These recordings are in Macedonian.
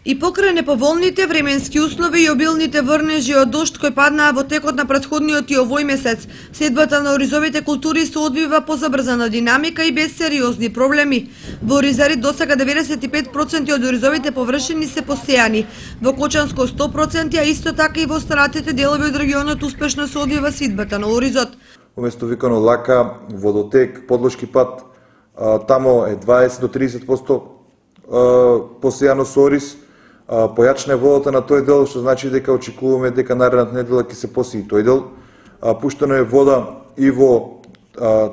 И покрај неповолните временски услови и обилните врнежи од дожд кои паднаа во текот на претходниот и овој месец, следбата на оризовите култури се одвива по забрзана динамика и без сериозни проблеми. Во Оризари досега 95% од оризовите површини се посејани, во Кочанско 100%, а исто така и во останатите делови од регионот успешно се одвива сидбата на оризот. Уместо викано Лака, Водотек, Подлошки пат, тамо е 20 до 30% посејано со ориз. Појачна е водата на тој дел, што значи дека очекуваме дека наредната недела ќе се посеи тој дел. Пуштено е вода и во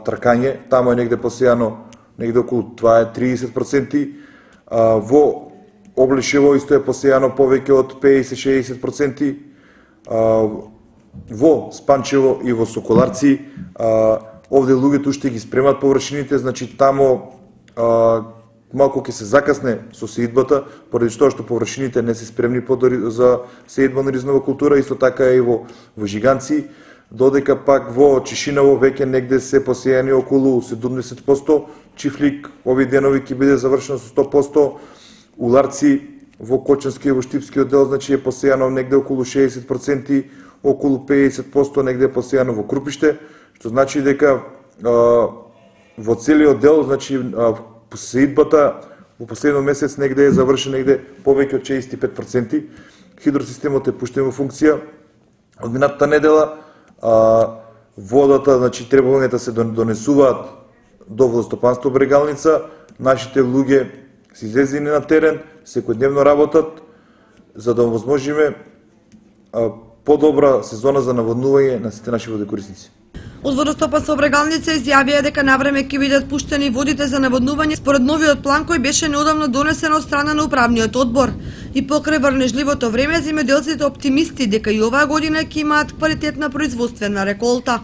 Тркање, тамо е негде посејано негде околу 30%. Во Облешево исто е посејано повеќе од 50-60%. Во Спанчево и во Соколарци, овде луѓето уште ги спремат површините, значи тамо малку ќе се закасне со сеидбата, поради тоа што површините не се спремни за сеидба на оризнова култура, исто така и во Жиганци, додека пак во Чешиново веќе негде се посејани околу 70%, Чифлик овие денови ќе биде завршено со 100%, Уларци во Кочански и во Штипскиот дел значи е посејано негде околу 60%, околу 50% негде е посејано во Крупиште, што значи дека во целиот дел значи сеидбата во последниот месец негде е завршен негде повеќе од 65%. Хидросистемот е пуштен во функција. Од минатата недела водата, значи требувањата се донесуваат до водостопанство Брегалница. Нашите луѓе се излезени на терен, секојдневно работат за да овозможиме подобра сезона за наводнување на сите наши водокорисници. Од водостопанство Брегалница изјавија дека навреме ќе бидат пуштени водите за наводнување според новиот план кој беше неодамно донесен од страна на управниот одбор. И покрај врнежливото време, земјоделците оптимисти дека и оваа година ќе имаат квалитетна производствена реколта.